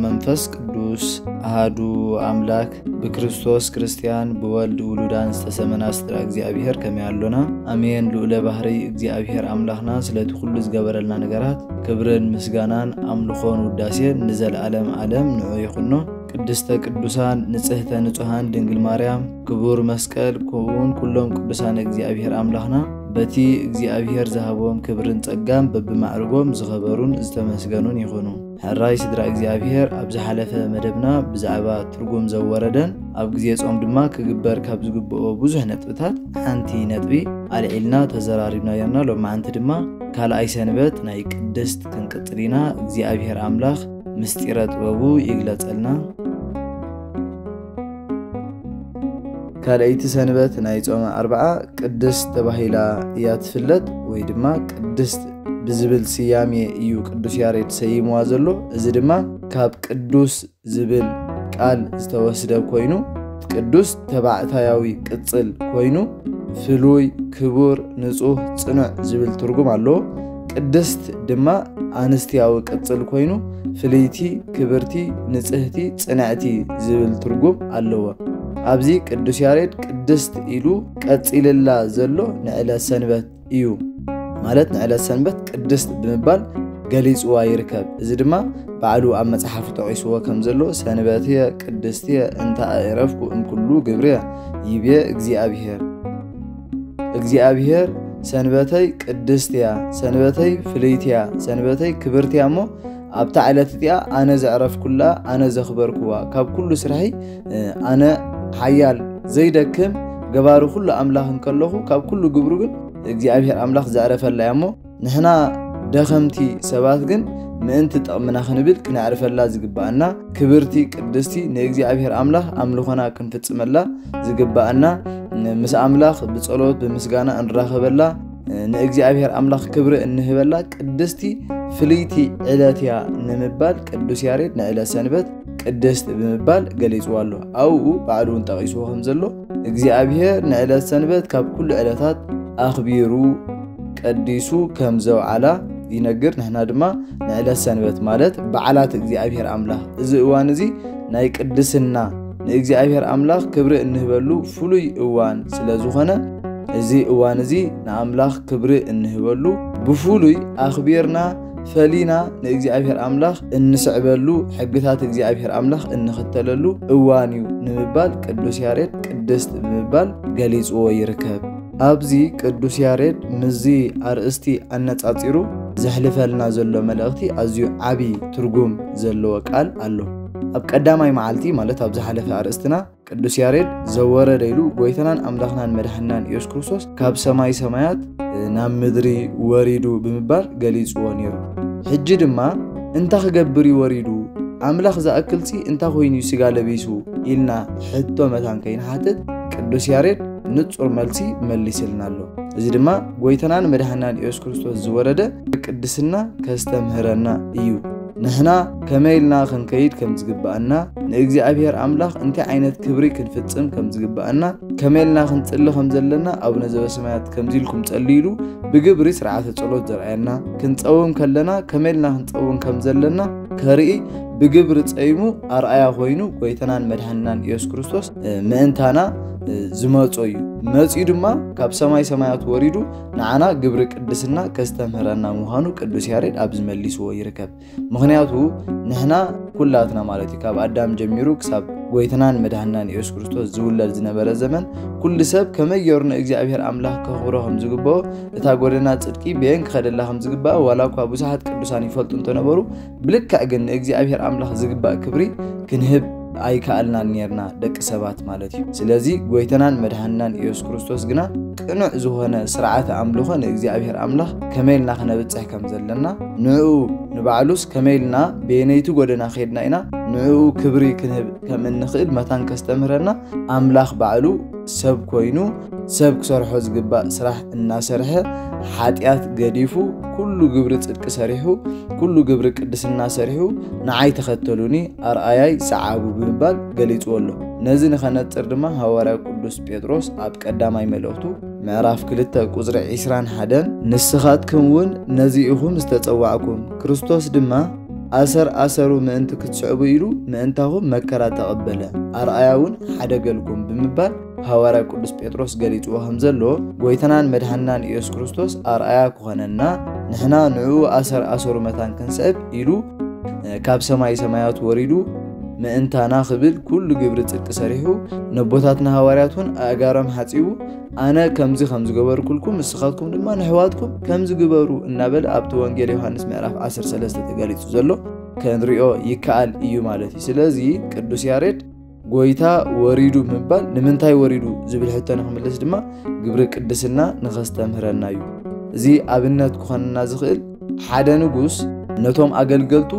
መንፈስ ቅዱስ ኣሃዱ ኣምላክ፣ ብክርስቶስ ክርስትያን፣ ብወልድ ውሉዳን ዝተሰመና ስድራ እግዚኣብሔር ከመይ ኣሎና? ኣሜን። ልኡለ ባህርይ እግዚኣብሔር ኣምላኽና ስለቲ ኩሉ ዝገበረልና ነገራት ክብርን ምስጋናን ኣምልኾን ውዳሴን ንዘለኣለም ዓለም ንዑ ይኹኖ። ቅድስተ ቅዱሳን ንጽህተ ንጹሃን ድንግል ማርያም፣ ክቡር መስቀል፣ ከምኡውን ኩሎም ቅዱሳን እግዚኣብሔር ኣምላኽና በቲ እግዚኣብሔር ዝሃቦም ክብርን ጸጋን በብማዕርጎም ዝኸበሩን ዝተመስገኑን ይኹኑ። ሕራይ ስድራ እግዚኣብሔር ኣብ ዝሓለፈ መደብና ብዛዕባ ትርጉም ዘወረደን ኣብ ግዜ ጾም ድማ ክግበር ካብ ዝግብኦ ብዙሕ ነጥብታት ሓንቲ ነጥቢ ኣልዒልና ተዘራሪብና ነርና። ሎማዓንቲ ድማ ካልኣይ ሰንበት ናይ ቅድስት ክንቅጽል ኢና። እግዚኣብሔር ኣምላኽ ምስጢረ ጥበቡ ይግለጸልና። ካልኣይቲ ሰንበት ናይ ጾመ ኣርብዓ ቅድስት ተባሂላ እያ ትፍለጥ፣ ወይ ድማ ቅድስት ብዝብል ስያሜ እዩ ቅዱስ ያሬድ ሰይምዋ ዘሎ። እዚ ድማ ካብ ቅዱስ ዝብል ቃል ዝተወስደ ኮይኑ፣ ቅዱስ ተባዕታያዊ ቅጽል ኮይኑ፣ ፍሉይ፣ ክቡር፣ ንጹህ፣ ጽኑዕ ዝብል ትርጉም ኣለዎ። ቅድስት ድማ ኣንስትያዊ ቅጽል ኮይኑ፣ ፍልይቲ፣ ክብርቲ፣ ንጽህቲ፣ ጽንዕቲ ዝብል ትርጉም ኣለዎ። ኣብዚ ቅዱስ ያሬድ ቅድስት ኢሉ ቀጺልላ ዘሎ ንዕለት ሰንበት እዩ። ማለት ንዕለት ሰንበት ቅድስት ብምባል ገሊጽዋ ይርከብ። እዚ ድማ ባዕሉ ኣብ መጽሓፉ ጠቒስዎ ከም ዘሎ፣ "ሰንበትየ ቅድስትየ እንተ ኣዕረፍኩ እምኩሉ ግብርየ ይቤ እግዚኣብሔር።" እግዚኣብሔር፣ "ሰንበተይ ቅድስት እያ፣ ሰንበተይ ፍልይቲ እያ፣ ሰንበተይ ክብርቲ እያ እሞ ኣብታ ዕለት እቲኣ ኣነ ዘዕረፍኩላ፣ ኣነ ዘኽበርኩዋ፣ ካብ ኩሉ ስርሐይ፣ እ፣ ኣነ ሓያል ዘይደክም ገባሪ ኩሉ ኣምላኽ እንከለኹ፣ ካብ ኩሉ ግብሩ ግን እግዚኣብሔር ኣምላኽ ዘዕረፈላ እያ እሞ፣ ንሕና ደኸምቲ ሰባት ግን ምእንቲ ጥቕምና ክንብል ክነዕርፈላ ዝግብኣና፣ ክብርቲ ቅድስቲ ንእግዚኣብሔር ኣምላኽ ኣምልኾና ክንፍጽመላ ዝግብኣና፣ ምስ ኣምላኽ ብጸሎት ብምስጋና እንራኸበላ፣ ንእግዚኣብሔር ኣምላኽ ክብሪ እንህበላ ቅድስቲ ፍልይቲ ዕለት እያ ንምባል ቅዱስ ያሬድ ንዕለት ሰንበት ቅድስት ብምባል ገሊጽዋ ኣሎ። ኣብኡ ባዕሉ እውን ጠቒስዎ ከም ዘሎ፣ እግዚኣብሔር ንዕለት ሰንበት ካብ ኩሉ ዕለታት ኣኽቢሩ ቀዲሱ ከም ዘውዓላ ይነግር። ንሕና ድማ ንዕለት ሰንበት ማለት በዓላት እግዚኣብሔር ኣምላኽ፣ እዚ እዋን እዚ ናይ ቅድስና፣ ንእግዚኣብሔር ኣምላኽ ክብሪ እንህበሉ ፍሉይ እዋን ስለ ዝኾነ፣ እዚ እዋን እዚ ንኣምላኽ ክብሪ እንህበሉ፣ ብፍሉይ ኣኽቢርና ፈሊና ንእግዚኣብሔር ኣምላኽ እንስዕበሉ፣ ሕግታት እግዚኣብሔር ኣምላኽ እንኽተለሉ እዋን እዩ ንምባል ቅዱስ ያሬድ ቅድስት ብምባል ገሊጽዎ ይርከብ። ኣብዚ ቅዱስ ያሬድ ምስዚ ኣርእስቲ ኣነጻጺሩ ዘሕልፈልና ዘሎ መልእኽቲ ኣዝዩ ዓቢ ትርጉም ዘለዎ ቃል ኣሎ። ኣብ ቀዳማይ መዓልቲ፣ ማለት ኣብ ዝሓለፈ ኣርእስትና፣ ቅዱስ ያሬድ ዘወረደ ኢሉ ጎይታናን ኣምላኽናን መድሓንናን ኢየሱስ ክርስቶስ ካብ ሰማይ ሰማያት ናብ ምድሪ ወሪዱ ብምባል ገሊጽዎ ነይሩ። ሕጂ ድማ፣ "እንታ ክገብር እዩ ወሪዱ? ኣምላኽ ዝኣክልሲ እንታ ኮይኑ እዩ ስጋ ለቢሱ?" ኢልና ሕቶ መታን ከይንሓትት፣ ቅዱስ ያሬድ ንጹር መልሲ መሊስልና ኣሎ። እዚ ድማ ጎይታናን መድሓንናን ኢየሱስ ክርስቶስ ዝወረደ ቅድስና ከስተምህረና እዩ። ንሕና ከመይ ኢልና ክንከይድ ከም ዝግብኣና፣ ንእግዚኣብሔር ኣምላኽ እንታይ ዓይነት ክብሪ ክንፍጽም ከም ዝግብኣና፣ ከመይ ኢልና ክንጽሊ ከም ዘለና፣ ኣቡነ ዘበሰማያት ከምዚ ኢልኩም ጸልዩ ኢሉ ብግብሪ ስርዓተ ጸሎት ዘርኣየና፣ ክንጸውም ከለና ከመይ ኢልና ክንጸውም ከም ዘለና ከርኢ ብግብሪ ጸይሙ ኣርኣያ ኮይኑ ጎይታናን መድሓንናን ኢየሱስ ክርስቶስ፣ እ፣ ምእንታና፣ እ፣ ዝመጾ እዩ። መጺኡ ድማ ካብ ሰማይ ሰማያት ወሪዱ ንዓና ግብሪ ቅድስና ከስተምህረና ምዃኑ ቅዱስ ያሬድ ኣብዚ መሊስዎ ይርከብ። ምኽንያቱ ንሕና ኩላትና ማለት እዩ፣ ካብ ኣዳም ጀሚሩ ክሳብ ጎይታናን መድሓንናን ኢየሱስ ክርስቶስ ዝውለድ ዝነበረ ዘመን፣ ኩሉ ሰብ ከመይ ገይሩ ንእግዚኣብሔር ኣምላኽ ከኽብሮ ከም ዝግብኦ፣ እታ ጎደና ጽድቂ በየን ክኸደላ ከም ዝግባእ፣ ዋላ እኳ ብዙሓት ቅዱሳን ይፈልጡ እንተነበሩ፣ ብልክዕ ግን ንእግዚኣብሔር ኣምላኽ ዝግባእ ክብሪ ክንህብ ኣይከኣልናን ኔርና፣ ደቂ ሰባት ማለት እዩ። ስለዚ ጎይታናን መድሓንናን ኢየሱስ ክርስቶስ ግና ቅኑዕ ዝኾነ ስርዓተ ኣምልኾ ንእግዚኣብሔር ኣምላኽ ከመይ ኢልና ክነብጽሕ ከም ዘለና፣ ንዕኡ ንባዕሉስ ከመይ ኢልና በየነይቲ ጎደና ኸይድና ኢና ንዕኡ ክብሪ ክንህብ ከም እንኽእል መታን ከስተምህረና፣ ኣምላኽ ባዕሉ ሰብ ኮይኑ፣ ሰብ ክሰርሖ ዝግባእ ስራሕ እናሰርሐ፣ ሓጢኣት ገዲፉ፣ ኩሉ ግብሪ ጽድቂ ሰሪሑ፣ ኩሉ ግብሪ ቅድስና ሰሪሑ፣ "ንዓይ ተኸተሉኒ፣ ኣርኣያይ ሰዓቡ" ብምባል ገሊጽዎ ኣሎ። ነዚ ንኸነጽር ድማ ሃዋርያ ቅዱስ ጴጥሮስ ኣብ ቀዳማይ መልእኽቱ ምዕራፍ ክልተ ቁጽሪ ዒስራን ሓደን፣ "ንስኻትኩም እውን ነዚ ኢኹም ዝተጸዋዕኩም፣ ክርስቶስ ድማ ኣሰር ኣሰሩ ምእንቲ ክትስዕቡ ኢሉ ምእንታኹም መከራ ተቐበለ፣ ኣርኣያ እውን ሓደገልኩም ብምባል ሃዋርያ ቅዱስ ጴጥሮስ ገሊጽዎ ከም ዘሎ፣ ጎይታናን መድሓንናን ኢየሱስ ክርስቶስ ኣርኣያ ክኾነና፣ ንሕና ንዕኡ ኣሰር ኣሰሩ መታን ክንስዕብ ኢሉ ካብ ሰማይ ሰማያት ወሪዱ ምእንታና ክብል ኩሉ ግብሪ ጽድቂ ሰሪሑ፣ ነቦታትና ሃዋርያት እውን ኣእጋሮም ሓጺቡ፣ ኣነ ከምዚ ከም ዝገበርኩልኩም ንስኻትኩም ድማ ንሕዋትኩም ከምዚ ግበሩ እናበለ ኣብቲ ወንጌል ዮሃንስ ምዕራፍ ዓሰርተ ሰለስተ ተገሊጹ ዘሎ ክንሪኦ ይከኣል እዩ ማለት እዩ። ስለዚ ቅዱስ ያሬድ ጎይታ ወሪዱ ምባል ንምንታይ ወሪዱ ዝብል ሕቶ ንክምልስ ድማ ግብሪ ቅድስና ንኸስተምህረና እዩ። እዚ ኣብነት ክኾንና ዝኽእል ሓደ ንጉስ ነቶም ኣገልገልቱ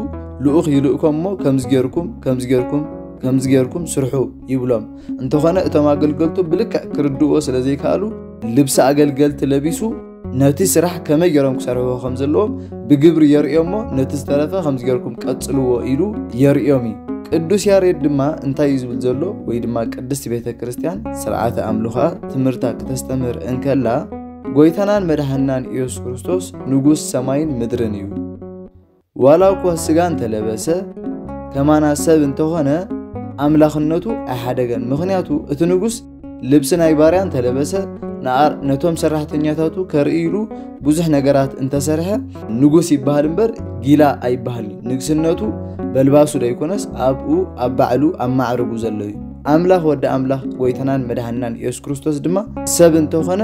ልኡኽ ይልእኮም እሞ ከምዚ ጌርኩም ከምዚ ጌርኩም ከምዚ ጌርኩም ስርሑ ይብሎም። እንተኾነ እቶም ኣገልገልቱ ብልክዕ ክርድእዎ ስለ ዘይከኣሉ ልብሲ ኣገልገልቲ ለቢሱ ነቲ ስራሕ ከመይ ገይሮም ክሰርሕዎ ከም ዘለዎም ብግብሪ የርእዮ እሞ ነቲ ዝተረፈ ከምዚ ገይርኩም ቀጽልዎ ኢሉ የርእዮም እዩ። ቅዱስ ያሬድ ድማ እንታይ እዩ ዝብል ዘሎ? ወይ ድማ ቅድስቲ ቤተ ክርስቲያን ስርዓተ ኣምልኾ ትምህርታ ክተስተምህር እንከላ ጎይታናን መድሓንናን ኢየሱስ ክርስቶስ ንጉስ ሰማይን ምድርን እዩ። ዋላ እኳ ስጋ እንተለበሰ ከማና ሰብ እንተኾነ ኣምላኽነቱ ኣይሓደገን። ምኽንያቱ እቲ ንጉስ ልብሲ ናይ ባርያ እንተለበሰ ንኣር ነቶም ሰራሕተኛታቱ ከርኢ ኢሉ ብዙሕ ነገራት እንተሰርሐ ንጉስ ይበሃል እምበር ጊላ ኣይበሃል። ንግስነቱ በልባሱ ደይኮነስ ኣብኡ ኣብ ባዕሉ ኣብ ማዕርጉ ዘሎ እዩ። ኣምላኽ ወዲ ኣምላኽ ጎይታናን መድሓንናን ኢየሱስ ክርስቶስ ድማ ሰብ እንተኾነ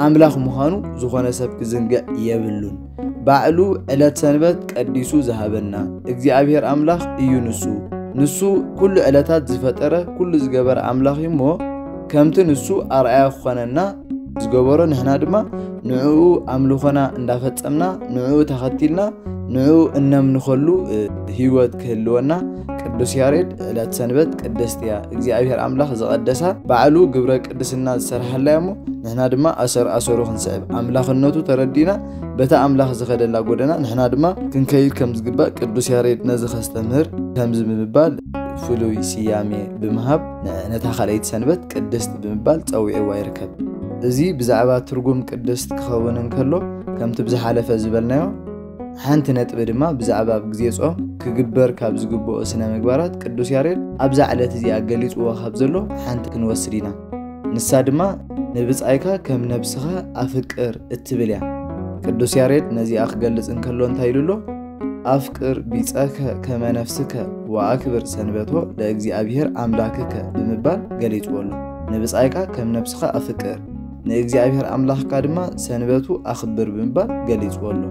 ኣምላኽ ምዃኑ ዝኾነ ሰብ ክዝንግዕ የብሉን። ባዕሉ ዕለት ሰንበት ቀዲሱ ዝሃበና እግዚኣብሔር ኣምላኽ እዩ ንሱ። ንሱ ኩሉ ዕለታት ዝፈጠረ ኩሉ ዝገበረ ኣምላኽ እዩ እሞ ከምቲ ንሱ ኣርኣያ ክኾነና ዝገበሮ ንሕና ድማ ንዕኡ ኣምልኾና እንዳፈጸምና ንዕኡ ተኸቲልና ንዕኡ እነምልኸሉ ህይወት ክህልወና ቅዱስ ያሬድ ዕለት ሰንበት ቅድስቲ እያ እግዚኣብሔር ኣምላኽ ዝቐደሳ ባዕሉ ግብረ ቅድስና ዝሰርሓላ እያ እሞ ንሕና ድማ ኣሰር ኣሰሩ ክንስዕብ ኣምላኽነቱ ተረዲእና በታ ኣምላኽ ዝኸደላ ጎደና ንሕና ድማ ክንከይድ ከም ዝግባእ ቅዱስ ያሬድ ነዚ ከስተምህር ከምዚ ብምባል ፍሉይ ስያሜ ብምሃብ ነታ ካልኣይቲ ሰንበት ቅድስቲ ብምባል ጸዊዕዋ ይርከብ። እዚ ብዛዕባ ትርጉም ቅድስት ክኸውን እንከሎ ከምቲ ብዝሓለፈ ዝበልናዮ ሓንቲ ነጥቢ ድማ ብዛዕባ ኣብ ግዜ ጾም ክግበር ካብ ዝግብኦ ስነ ምግባራት ቅዱስ ያሬድ ኣብዛ ዕለት እዚኣ ገሊጽዎ ካብ ዘሎ ሓንቲ ክንወስድ ኢና። ንሳ ድማ ንብጻይካ ከም ነብስኻ ኣፍቅር እትብል እያ። ቅዱስ ያሬድ ነዚኣ ክገልጽ እንከሎ እንታይ ኢሉ ኣሎ? ኣፍቅር ቢጸከ ከመ ነፍስከ ወኣክብር ሰንበቶ ለእግዚኣብሔር ኣምላክከ ብምባል ገሊጽዎ ኣሎ። ንብጻይካ ከም ነብስኻ ኣፍቅር፣ ንእግዚኣብሔር ኣምላኽካ ድማ ሰንበቱ ኣኽብር ብምባል ገሊጽዎ ኣሎ።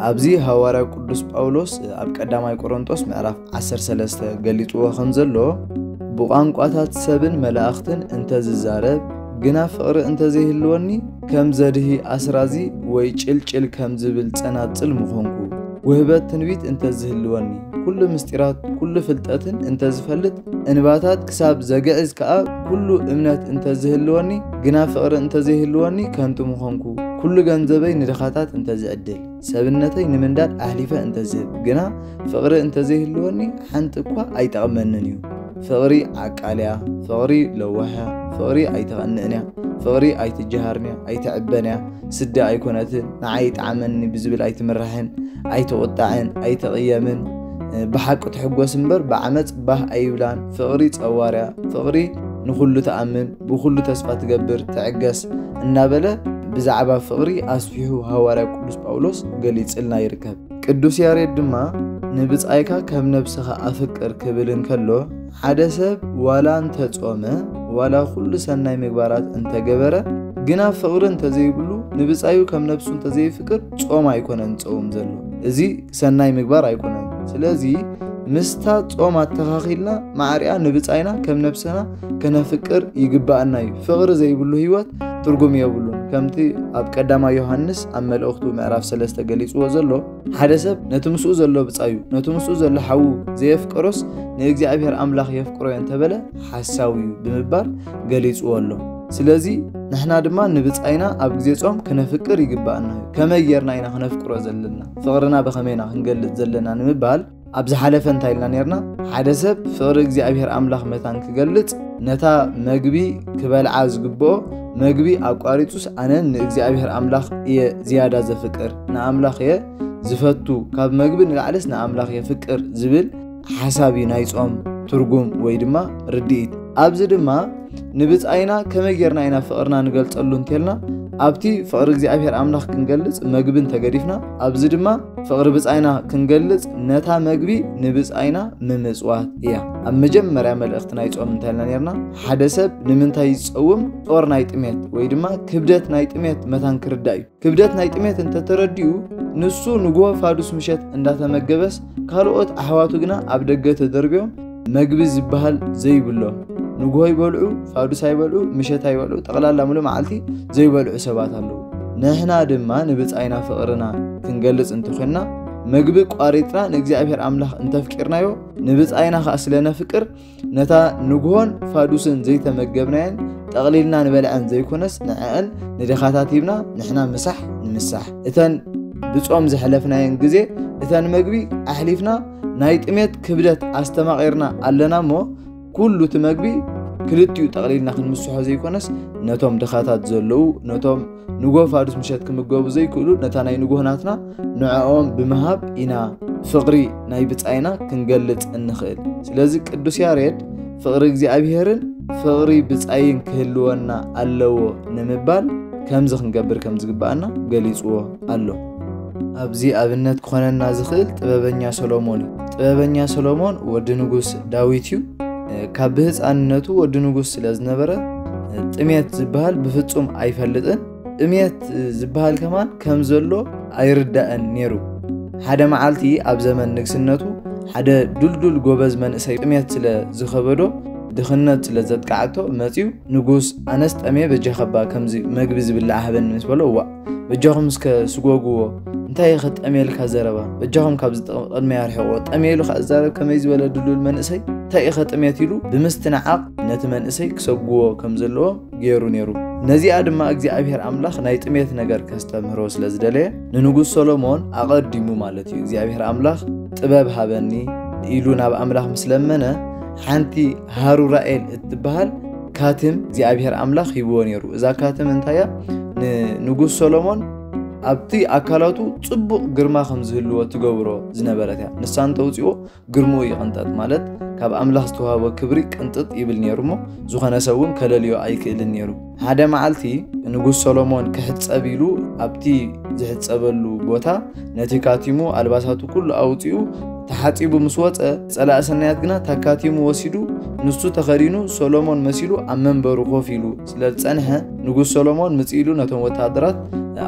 ኣብዚ ሃዋርያ ቅዱስ ጳውሎስ ኣብ ቀዳማይ ቆሮንጦስ ምዕራፍ ዓሰርተ ሰለስተ ገሊጽዎ ከም ዘሎ ብቋንቋታት ሰብን መላእኽትን እንተዝዛረብ ግና ፍቕሪ እንተዘይህልወኒ ከም ዘድሂ ኣስራዚ ወይ ጭልጭል ከም ዝብል ጸናጽል ምኾንኩ። ውህበት ትንቢት እንተዝህልወኒ ኩሉ ምስጢራት ኩሉ ፍልጠትን እንተዝፈልጥ እንባታት ክሳብ ዘግዕዝ ከኣ ኩሉ እምነት እንተዝህልወኒ ግና ፍቕሪ እንተዘይህልወኒ ከንቱ ምኾንኩ። ኩሉ ገንዘበይ ንድኻታት እንተዝዕድል ሰብነተይ ንምንዳድ ኣሕሊፈ እንተዝህብ ግና ፍቕሪ እንተዘይህልወኒ ሓንቲ እኳ ኣይጠቕመንን እዩ። ፍቕሪ ዓቃል እያ፣ ፍቕሪ ለዋህ እያ፣ ፍቕሪ ኣይትቐንእን እያ፣ ፍቕሪ ኣይትጀሃርን እያ፣ ኣይትዕበን እያ፣ ስዲ ኣይኮነትን፣ ንዓይ ይጥዓመኒ ብዝብል ኣይትምራሕን፣ ኣይትቑጣዕን፣ ኣይትቕየምን፣ ብሓቂ ትሕጎስ እምበር ብዓመፅ ባህ ኣይብላን። ፍቕሪ ፀዋር እያ፣ ፍቕሪ ንኹሉ ትኣምን፣ ብኹሉ ተስፋ ትገብር፣ ትዕገስ እናበለ ብዛዕባ ፍቕሪ ኣስፊሑ ሃዋርያ ቅዱስ ጳውሎስ ገሊጽልና ይርከብ። ቅዱስ ያሬድ ድማ ንብጻይካ ከም ነብስኻ ኣፍቅር ክብል እንከሎ ሓደ ሰብ ዋላ እንተጾመ ዋላ ኩሉ ሰናይ ምግባራት እንተገበረ ግና ፍቕሪ እንተዘይብሉ ንብጻዩ ከም ነብሱ እንተዘይፍቅር ጾም ኣይኮነን ጸውም ዘሎ። እዚ ሰናይ ምግባር ኣይኮነን። ስለዚ ምስታ ጾም ኣተኻኺልና ማዕሪኣ ንብጻይና ከም ነብስና ከነፍቅር ይግባኣና እዩ። ፍቕሪ ዘይብሉ ህይወት ትርጉም የብሉን። ከምቲ ኣብ ቀዳማይ ዮሃንስ ኣብ መልእኽቱ ምዕራፍ ሰለስተ ገሊጽዎ ዘሎ ሓደ ሰብ ነቲ ምስኡ ዘሎ ብጻዩ ነቲ ምስኡ ዘሎ ሓዉ ዘየፍቀሮስ ንእግዚኣብሔር ኣምላኽ የፍቅሮ እየ እንተበለ ሓሳዊ እዩ ብምባል ገሊጽዎ ኣሎ። ስለዚ ንሕና ድማ ንብጻይና ኣብ ግዜ ጾም ክነፍቅር ይግባኣና እዩ። ከመይ ጌርና ኢና ክነፍቅሮ ዘለና? ፍቕርና ብኸመይ ኢና ክንገልጽ ዘለና ንምባል ኣብ ዝሓለፈ እንታይ ኢልና ኔርና? ሓደ ሰብ ፍቕሪ እግዚኣብሔር ኣምላኽ መታን ክገልጽ ነታ መግቢ ክበልዓ ዝግብኦ መግቢ ኣቋሪጹስ ኣነ ንእግዚኣብሔር ኣምላኽ እየ ዝያዳ ዘፍቅር ንኣምላኽ እየ ዝፈቱ፣ ካብ መግቢ ንላዕልስ ንኣምላኽ የፍቅር ዝብል ሓሳብ እዩ ናይ ጾም ትርጉም ወይ ድማ ርድኢት። ኣብዚ ድማ ንብጻይና ከመይ ጌርና ኢና ፍቕርና ንገልጸሉ እንተልና፣ ኣብቲ ፍቕሪ እግዚኣብሔር ኣምላኽ ክንገልጽ መግቢ እንተገዲፍና፣ ኣብዚ ድማ ፍቕሪ ብጻይና ክንገልጽ ነታ መግቢ ንብጻይና ምምጽዋት እያ። ኣብ መጀመርያ መልእኽቲ ናይ ጾም እንታይ ኢልና ኔርና? ሓደ ሰብ ንምንታይ ዝጸውም ጾር ናይ ጥሜት ወይ ድማ ክብደት ናይ ጥሜት መታን ክርዳእ እዩ። ክብደት ናይ ጥሜት እንተተረዲኡ፣ ንሱ ንግሆ ፋዱስ ምሸት እንዳተመገበስ፣ ካልኦት ኣሕዋቱ ግና ኣብ ደገ ተደርብዮም መግቢ ዝበሃል ዘይብሎም፣ ንግሆ ይበልዑ፣ ፋዱስ ኣይበልዑ፣ ምሸት ኣይበልዑ፣ ጠቕላላ ሙሉእ መዓልቲ ዘይበልዑ ሰባት ኣለዉ። ንሕና ድማ ንብጻይና ፍቕርና ክንገልጽ እንተኾንና፣ መግቢ ቋሪጽና ንእግዚኣብሔር ኣምላኽ እንተፍቂርናዮ፣ ንብጻይና ኸኣ ስለ ነፍቅር፣ ነታ ንግሆን ፋዱስን ዘይተመገብናየን ጠቕሊልና ንበልዐን ዘይኮነስ፣ ንዐአን ንድኻታት ሂብና ንሕና ምሳሕ ንምሳሕ። እተን ብጾም ዘሕለፍናየን ግዜ፣ እተን መግቢ ኣሕሊፍና ናይ ጥሜት ክብደት ኣስተማቒርና ኣለና እሞ፣ ኩሉ እቲ መግቢ ክልቲኡ ጠቕሊልና ክንምስሖ ዘይኮነስ፣ ነቶም ድኻታት ዘለዉ፣ ነቶም ንጎ ፋዱስ ምሸት ክምገቡ ዘይክእሉ፣ ነታ ናይ ንጎ ናትና ንዕኦም ብምሃብ ኢና ፍቕሪ ናይ ብጻይና ክንገልጽ እንኽእል። ስለዚ ቅዱስ ያሬድ ፍቕሪ እግዚኣብሔርን ፍቕሪ ብጻይን ክህልወና ኣለዎ ንምባል ከምዚ ክንገብር ከም ዝግብኣና ገሊጽዎ ኣሎ። ኣብዚ ኣብነት ክኾነና ዝኽእል ጥበበኛ ሰሎሞን እዩ። ጥበበኛ ሰሎሞን ወዲ ንጉስ ዳዊት እዩ። ካብ ብህፃንነቱ ወዲ ንጉስ ስለ ዝነበረ፣ ጥሜት ዝበሃል ብፍጹም ኣይፈልጥን። ጥሜት ዝበሃል ከማን ከም ዘሎ ኣይርዳእን ነይሩ። ሓደ መዓልቲ ኣብ ዘመን ንግስነቱ ሓደ ዱልዱል ጎበዝ መንእሰይ ጥሜት ስለ ዝኸበዶ፣ ድኽነት ስለ ዘጥቃዕቶ መጺኡ፣ "ንጉስ፣ ኣነስ ጠሜ፣ በጃኸባ ከምዚ መግቢ ዝብላዕ ሃበኒ" ምስ በሎ፣ "እዋእ፣ በጃኹም እስከ ስጎግዎ፣ እንታይ ኢኸ ጠሜልካ ዘረባ? በጃኹም ካብዚ ጥቕ-፣ ቅድመይ ኣርሕቕዎ። ጠሜ" ኢሉ ከኣ ዝዛረብ ከመይ ዝበለ ድሉል መንእሰይ፣ "እንታይ ኢኸ ጥሜት?" ኢሉ ብምስትንዓቕ ነቲ መንእሰይ ክሰጉዎ ከም ዘለዎ ገይሩ ነይሩ። ነዚኣ ድማ እግዚኣብሔር ኣምላኽ ናይ ጥሜት ነገር ከስተምህሮ ስለ ዝደለየ፣ ንንጉስ ሰሎሞን ኣቐዲሙ ማለት እዩ፣ እግዚኣብሔር ኣምላኽ "ጥበብ ሃበኒ" ኢሉ ናብ ኣምላኽ ምስ ለመነ፣ ሓንቲ ሃሩራኤል እትበሃል ካትም እግዚኣብሔር ኣምላኽ ሂብዎ ነይሩ። እዛ ካትም እንታይ እያ? ንንጉስ ሰሎሞን ኣብቲ ኣካላቱ ጽቡቕ ግርማ ከም ዝህልዎ ትገብሮ ዝነበረት እያ። ንሳ እንተውጽኦ ግርምኡ ይቕንጠጥ፣ ማለት ካብ ኣምላኽ ዝተዋህቦ ክብሪ ቅንጥጥ ይብል ነይሩ እሞ፣ ዝኾነ ሰብ እውን ከለልዮ ኣይክእልን ነይሩ። ሓደ መዓልቲ ንጉስ ሰሎሞን ክሕጸብ ኢሉ ኣብቲ ዝሕጸበሉ ቦታ ነቲ ካቲሙ ኣልባሳቱ ኩሉ ኣውጺኡ ተሓጺቡ ምስ ወጸ፣ ጸላኢ ሰናያት ግና ታካቲሙ ወሲዱ ንሱ ተኸዲኑ ሰሎሞን መሲሉ ኣብ መንበሩ ኮፍ ኢሉ ስለ ዝጸንሐ፣ ንጉስ ሰሎሞን ምጽእ ኢሉ ነቶም ወተሃደራት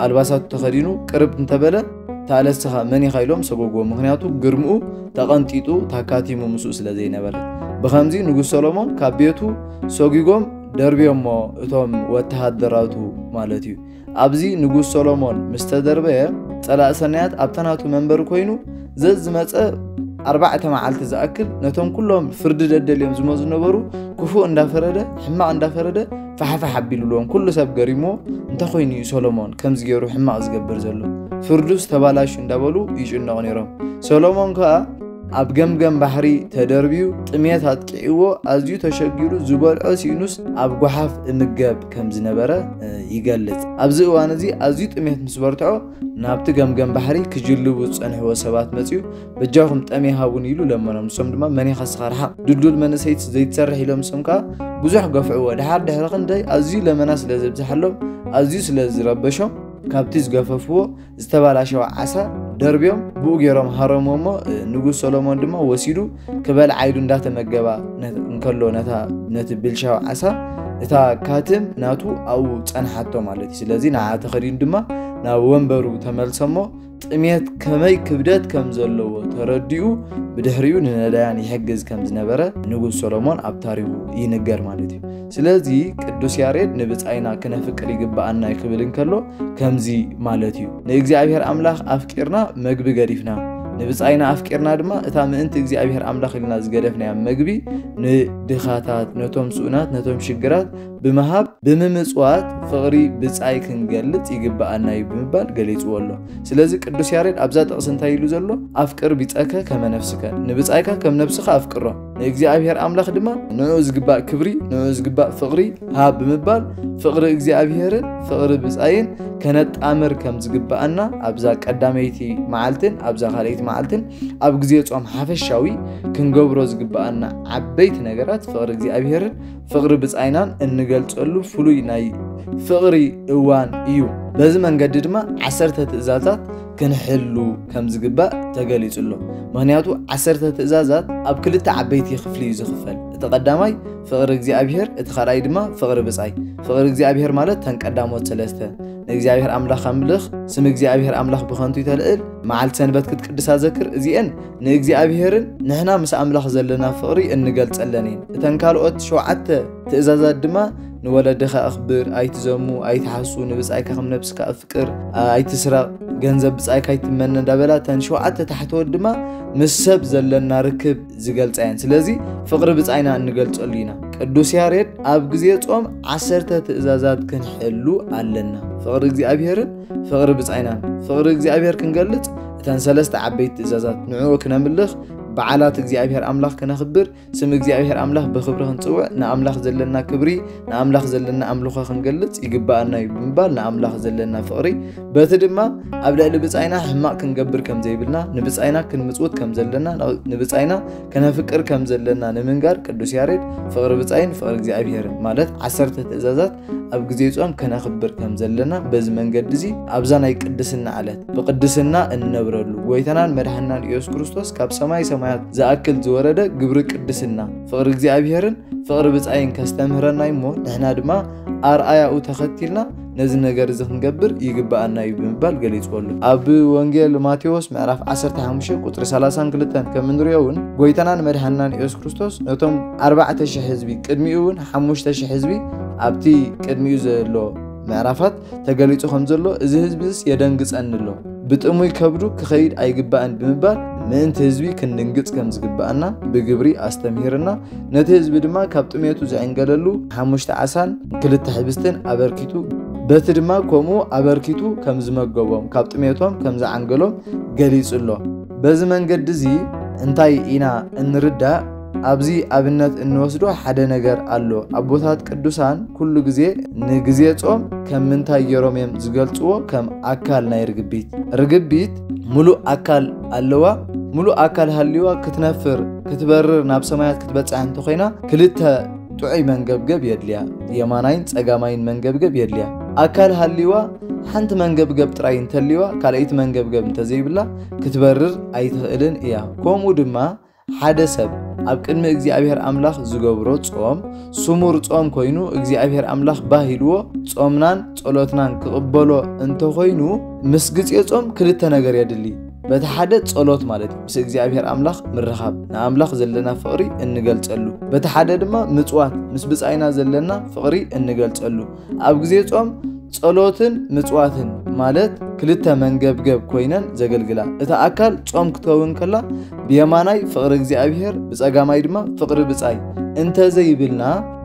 ኣልባሳቱ ተኸዲኑ ቅርብ እንተበለ፣ "እታ ለስኻ መን ኢኻ?" ኢሎም ሰጎግዎ። ምኽንያቱ ግርምኡ ተቐንጢጡ ታካቲሙ ምስኡ ስለ ዘይነበረ። ብኸምዚ ንጉስ ሰሎሞን ካብ ቤቱ ሰጒጎም ደርብዮሞ እቶም ወተሃደራቱ ማለት እዩ። ኣብዚ ንጉስ ሰሎሞን ምስ ተደርበየ፣ ጸላኢ ሰናያት ኣብታ ናቱ መንበሪ ኮይኑ፣ ዘዝመጸ ኣርባዕተ መዓልቲ ዝኣክል ነቶም ኩሎም ፍርዲ ደደልዮም ዝመጹ ነበሩ ክፉእ እንዳፈረደ፣ ሕማቕ እንዳፈረደ ፋሕፋሕ ኣቢሉሎም። ኩሉ ሰብ ገሪምዎ፣ "እንታይ ኮይኑ እዩ ሰሎሞን ከምዚ ገይሩ ሕማቕ ዝገብር ዘሎ? ፍርዱስ ተባላሹ" እንዳበሉ ይጭነቑ ነይሮም። ሰሎሞን ከኣ ኣብ ገምገም ባሕሪ ተደርብዩ፣ ጥሜት ኣጥቂዕዎ፣ ኣዝዩ ተሸጊሩ፣ ዝበልዖ ሲኢኑስ ኣብ ጓሓፍ እምገብ ከም ዝነበረ፣ እ፣ ይገልጽ። ኣብዚ እዋን እዚ ኣዝዩ ጥሜት ምስ በርትዖ፣ ናብቲ ገምገም ባሕሪ ክጅልቡ ዝጸንሕዎ ሰባት መጺኡ፣ "በጃኹም ጠሜ ሃቡኒ" ኢሉ ለመኖም። ንሶም ድማ፣ "መን ኢኻ እስኻ? ርሓቕ፣ ድልዱል መንእሰይት ዘይትሰርሕ" ኢሎም። ንሶም ከኣ ብዙሕ ገፍዕዎ። ድሓር ድሕሪ ክንደይ ኣዝዩ ለመና ስለ ዘብዝሓሎም፣ ኣዝዩ ስለ ዝረበሾም፣ ካብቲ ዝገፈፍዎ ዝተባላሸወ ዓሳ ደርብዮም ብኡ ገይሮም ሃረምዎ እሞ፣ እ፣ ንጉስ ሰሎሞን ድማ ወሲዱ ክበልዓ ኢሉ እንዳተመገባ ነ-፣ እንከሎ ነታ፣ ነቲ ብልሻው ዓሳ፣ እታ ካትም ናቱ ኣብኡ ጸንሓቶ ማለት እዩ። ስለዚ ንዓ ተኸዲኑ ድማ ናብ ወንበሩ ተመልሰ እሞ፣ ጥሜት ከመይ ክብደት ከም ዘለዎ ተረዲኡ፣ ብድሕሪኡ ንነዳያን ይሕግዝ ከም ዝነበረ ንጉስ ሰሎሞን ኣብ ታሪኹ ይንገር ማለት እዩ። ስለዚ ቅዱስ ያሬድ "ንብጻይና ክነፍቅር ይግብኣና" ክብል እንከሎ ከምዚ ማለት እዩ። ንእግዚኣብሔር ኣምላኽ ኣፍቂርና መግቢ ገዲፍና፣ ንብጻይና ኣፍቂርና ድማ እታ ምእንቲ እግዚኣብሔር ኣምላኽ ኢልና ዝገደፍናያ መግቢ ንድኻታት፣ ነቶም ስኡናት፣ ነቶም ሽግራት ብምሃብ ብምምፅዋት ፍቕሪ ብፃይ ክንገልፅ ይግበኣና እዩ ብምባል ገሊፅዎ ኣሎ። ስለዚ ቅዱስ ያሬድ ኣብዛ ጥቕሲ እንታይ ኢሉ ዘሎ? ኣፍቅር ቢፀከ ከመ ነፍስከ፣ ንብፃይካ ከም ነብስኻ ኣፍቅሮ፣ ንእግዚኣብሔር ኣምላኽ ድማ ንኡ ዝግባእ ክብሪ፣ ንኡ ዝግባእ ፍቕሪ ሃብ ብምባል ፍቕሪ እግዚኣብሔርን ፍቕሪ ብፃይን ከነጣምር ከም ዝግበኣና ኣብዛ ቀዳመይቲ መዓልትን ኣብዛ ካልኣይቲ መዓልትን ኣብ ግዜ ጾም ሓፈሻዊ ክንገብሮ ዝግበኣና ዓበይቲ ነገራት ፍቕሪ እግዚኣብሔርን ፍቕሪ ብፃይናን እንገልፀሉ ፍሉይ ናይ ፍቕሪ እዋን እዩ። በዚ መንገዲ ድማ ዓሰርተ ትእዛዛት ክንሕሉ ከም ዝግባእ ተገሊጹ ኣሎ። ምኽንያቱ ዓሰርተ ትእዛዛት ኣብ ክልተ ዓበይቲ ክፍሊ እዩ ዝኽፈል። እቲ ቀዳማይ ፍቕሪ እግዚኣብሔር፣ እቲ ካልኣይ ድማ ፍቕሪ ብጻይ። ፍቕሪ እግዚኣብሔር ማለት ተን ቀዳሞት ሰለስተ፣ ንእግዚኣብሔር ኣምላኽ ኣምልኽ፣ ስም እግዚኣብሔር ኣምላኽ ብኸንቱ ይተልዕል፣ መዓልቲ ሰንበት ክትቅድሳ ዘክር። እዚኤን ንእግዚኣብሔርን ንሕና ምስ ኣምላኽ ዘለና ፍቕሪ እንገልጸለን እየን። እተን ካልኦት ሸውዓተ ትእዛዛት ድማ ንወለድኻ ኣኽብር፣ ኣይትዘሙ፣ ኣይትሓሱ፣ ንብጻይካ ከም ነብስካ ኣፍቅር፣ ኣይትስረቕ፣ ገንዘብ ብጻይካ ኣይትመነ እንዳበላ እተን ሸውዓተ ታሕተዎት ድማ ምስ ሰብ ዘለና ርክብ ዝገልጻ እየን። ስለዚ ፍቕሪ ብጻይና እንገልጸሉ ኢና። ቅዱስ ያሬድ ኣብ ግዜ ጾም ዓሰርተ ትእዛዛት ክንሕሉ ኣለና። ፍቕሪ እግዚኣብሔርን ፍቕሪ ብጻይናን። ፍቕሪ እግዚኣብሔር ክንገልጽ እተን ሰለስተ ዓበይቲ ትእዛዛት ንዕኡ ክነምልኽ፣ በዓላት እግዚኣብሔር ኣምላኽ ክነኽብር፣ ስም እግዚኣብሔር ኣምላኽ ብኽብሪ ክንጽውዕ፣ ንኣምላኽ ዘለና ክብሪ፣ ንኣምላኽ ዘለና ኣምልኾ ክንገልጽ ይግበኣና እዩ ብምባል ንኣምላኽ ዘለና ፍቕሪ፣ በቲ ድማ ኣብ ልዕሊ ብጻይና ሕማቕ ክንገብር ከም ዘይብልና፣ ንብጻይና ክንምጽውት ከም ዘለና፣ ንብጻይና ከነፍቅር ከም ዘለና ንምንጋር ቅዱስ ያሬድ ፍቕሪ ብጻይን ፍቕሪ እግዚኣብሔርን ማለት ዓሰርተ ትእዛዛት ኣብ ግዜ ጾም ከነኽብር ከም ዘለና በዚ መንገዲ እዚ ኣብዛ ናይ ቅድስና ዕለት ብቅድስና እንነብረሉ ጎይታናን መድሓንናን ኢየሱስ ክርስቶስ ካብ ሰማይ ሰማያት ዝኣክል ዝወረደ ግብሪ ቅድስና ፍቕሪ እግዚኣብሔርን ፍቕሪ ብጻይን ከስተምህረና እዩ እሞ ንሕና ድማ ኣርኣያኡ ተኸቲልና ነዚ ነገር እዚ ክንገብር ይግበኣና እዩ ብምባል ገሊጽዎ ኣሎ። ኣብ ወንጌል ማቴዎስ ምዕራፍ ዓሰርተ ሓሙሽተ ቁጽሪ ሰላሳን ክልተን ከም እንሪኦ እውን ጎይታናን መድሓንናን ኢየሱስ ክርስቶስ ነቶም ኣርባዕተ ሽሕ ህዝቢ ቅድሚኡ እውን ሓሙሽተ ሽሕ ህዝቢ ኣብቲ ቅድሚኡ ዘሎ ምዕራፋት ተገሊጹ ከም ዘሎ እዚ ህዝብስ የደንግጸኒ ኣሎ፣ ብጥሙይ ከብዱ ክኸይድ ኣይግባእን ብምባል ምእንቲ ህዝቢ ክንድንግጽ ከም ዝግባኣና ብግብሪ ኣስተምሂርና። ነቲ ህዝቢ ድማ ካብ ጥሜቱ ዝዕንገለሉ ሓሙሽተ ዓሳን ክልተ ሕብስትን ኣበርኪቱ፣ በቲ ድማ ከምኡ ኣበርኪቱ ከም ዝመገቦም፣ ካብ ጥሜቶም ከም ዝዓንገሎም ገሊጹ ኣሎ። በዚ መንገዲ እዚ እንታይ ኢና እንርዳእ? ኣብዚ ኣብነት እንወስዶ ሓደ ነገር ኣሎ። ኣቦታት ቅዱሳን ኩሉ ግዜ ንግዜ ጾም ከም ምንታይ ገይሮም እዮም ዝገልጽዎ? ከም ኣካል ናይ ርግቢት። ርግቢት ሙሉእ ኣካል ኣለዋ። ሙሉእ ኣካል ሃልይዋ ክትነፍር፣ ክትበርር፣ ናብ ሰማያት ክትበጽሕ እንተኾይና ክልተ ጥዑይ መንገብገብ የድልያ። የማናይን ጸጋማይን መንገብገብ የድልያ። ኣካል ሃልይዋ ሓንቲ መንገብገብ ጥራይ እንተልይዋ፣ ካልኣይቲ መንገብገብ እንተዘይብላ ክትበርር ኣይትኽእልን እያ። ከምኡ ድማ ሓደ ሰብ ኣብ ቅድሚ እግዚኣብሔር ኣምላኽ ዝገብሮ ጾም ስሙር ጾም ኮይኑ እግዚኣብሔር ኣምላኽ ባህ ኢልዎ ጾምናን ጸሎትናን ክቕበሎ እንተኾይኑ ምስ ግዜ ጾም ክልተ ነገር የድሊ። በቲ ሓደ ጸሎት ማለት እዩ፣ ምስ እግዚኣብሔር ኣምላኽ ምርኻብ፣ ንኣምላኽ ዘለና ፍቕሪ እንገልጸሉ። በቲ ሓደ ድማ ምጽዋት፣ ምስ ብጻይና ዘለና ፍቕሪ እንገልጸሉ። ኣብ ግዜ ጾም ጸሎትን ምጽዋትን ማለት ክልተ መንገብገብ ኮይነን ዘገልግላ። እታ ኣካል ጾም ክትከውን ከላ ብየማናይ ፍቕሪ እግዚኣብሔር፣ ብጸጋማይ ድማ ፍቕሪ ብጻይ እንተዘይብልና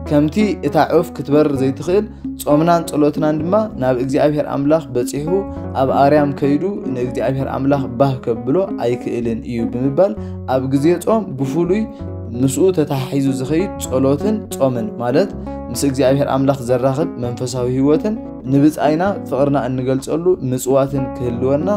ከምቲ እታ ዑፍ ክትበርር ዘይትኽእል ጾምናን ጸሎትናን ድማ ናብ እግዚኣብሔር ኣምላኽ በጺሑ ኣብ ኣርያም ከይዱ ንእግዚኣብሔር ኣምላኽ ባህ ከብሎ ኣይክእልን እዩ ብምባል ኣብ ግዜ ጾም ብፍሉይ ምስኡ ተተሓሒዙ ዝኸይድ ጸሎትን ጾምን ማለት ምስ እግዚኣብሔር ኣምላኽ ዘራኽብ መንፈሳዊ ህይወትን ንብጻይና ፍቕርና እንገልጸሉ ምጽዋትን ክህልወና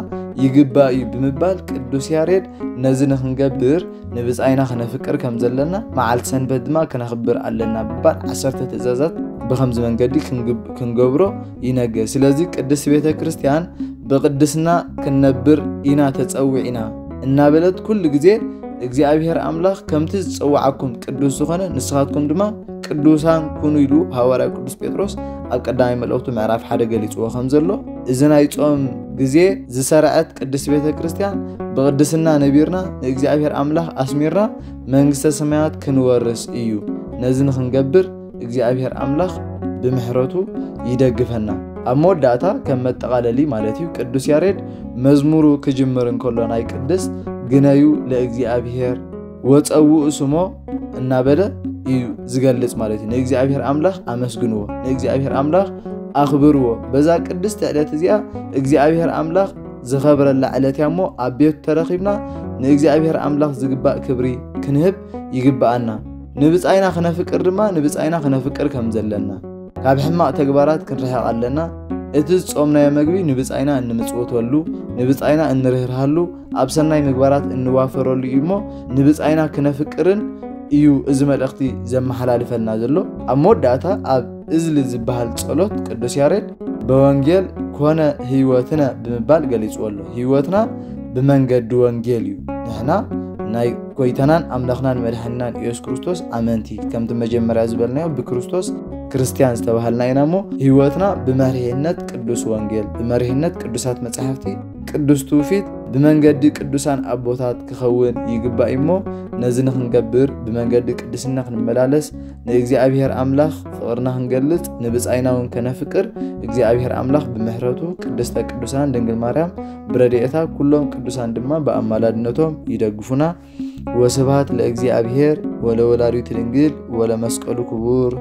ይግባእ እዩ ብምባል ቅዱስ ያሬድ ነዚ ንኽንገብር ንብጻይና ክነፍቅር ከም ዘለና መዓልቲ ሰንበት ድማ ክነኽብር ኣለና ብምባል ዓሰርተ ትእዛዛት ብኸምዚ መንገዲ ክንግብ- ክንገብሮ ይነግር። ስለዚ ቅድስት ቤተ ክርስቲያን ብቕድስና ክንነብር ኢና ተጸዊዕና እናበለት ኩሉ ግዜ እግዚኣብሔር ኣምላኽ ከምቲ ዝጸውዓኩም ቅዱስ ዝኾነ ንስኻትኩም ድማ ቅዱሳን ኩኑ ኢሉ ሃዋርያ ቅዱስ ጴጥሮስ ኣብ ቀዳማይ መልእኽቱ ምዕራፍ ሓደ ገሊጽዎ ከም ዘሎ እዚ ናይ ጾም ግዜ ዝሰረዐት ቅድስት ቤተ ክርስቲያን ብቕድስና ነቢርና ንእግዚኣብሔር ኣምላኽ ኣስሚርና መንግስተ ሰማያት ክንወርስ እዩ። ነዚ ንኽንገብር እግዚኣብሔር ኣምላኽ ብምሕረቱ ይደግፈና። ኣብ መወዳእታ ከም መጠቓለሊ ማለት እዩ ቅዱስ ያሬድ መዝሙሩ ክጅምር እንከሎ ናይ ቅድስት ግነዩ ለእግዚኣብሔር ወጸውኡ ስሞ እናበለ እዩ ዝገልጽ ማለት እዩ። ንእግዚኣብሔር ኣምላኽ ኣመስግንዎ፣ ንእግዚኣብሔር ኣምላኽ ኣኽብርዎ። በዛ ቅድስቲ ዕለት እዚኣ እግዚኣብሔር ኣምላኽ ዝኸብረላ ዕለት እያ እሞ፣ ኣብ ቤቱ ተረኺብና ንእግዚኣብሔር ኣምላኽ ዝግባእ ክብሪ ክንህብ ይግብኣና። ንብጻይና ክነፍቅር ድማ ንብጻይና ክነፍቅር ከም ዘለና፣ ካብ ሕማቕ ተግባራት ክንርሕቕ ኣለና። እቲ ዝጾምናዮ መግቢ ንብጻይና እንምጽውተሉ፣ ንብጻይና እንርህርሃሉ፣ ኣብ ሰናይ ምግባራት እንዋፈረሉ እዩ እሞ፣ ንብጻይና ክነፍቅርን እዩ እዚ መልእኽቲ ዘመሓላልፈልና ዘሎ። ኣብ መወዳእታ ኣብ እዝሊ ዝበሃል ጸሎት ቅዱስ ያሬድ በወንጌል ኮነ ህይወትነ ብምባል ገሊጽዎ ኣሎ። ህይወትና ብመንገዲ ወንጌል እዩ። ንሕና ናይ ጎይታናን ኣምላኽናን መድሓኒናን ኢየሱስ ክርስቶስ ኣመንቲ፣ ከምቲ መጀመርያ ዝበልናዮ፣ ብክርስቶስ ክርስትያን ዝተባሃልና ኢና እሞ፣ ህይወትና ብመሪሕነት ቅዱስ ወንጌል፣ ብመሪሕነት ቅዱሳት መጻሕፍቲ፣ ቅዱስ ትውፊት፣ ብመንገዲ ቅዱሳን ኣቦታት ክኸውን ይግባእ እሞ፣ ነዚ ንኽንገብር፣ ብመንገዲ ቅድስና ክንመላለስ፣ ንእግዚኣብሔር ኣምላኽ ፍቕርና ክንገልጽ፣ ንብጻይና እውን ከነፍቅር፣ እግዚኣብሔር ኣምላኽ ብምሕረቱ፣ ቅድስተ ቅዱሳን ድንግል ማርያም ብረድኤታ፣ ኩሎም ቅዱሳን ድማ ብኣማላድነቶም ይደግፉና። ወስብሐት ለእግዚኣብሔር ወለወላዲቱ ድንግል ወለመስቀሉ ክቡር።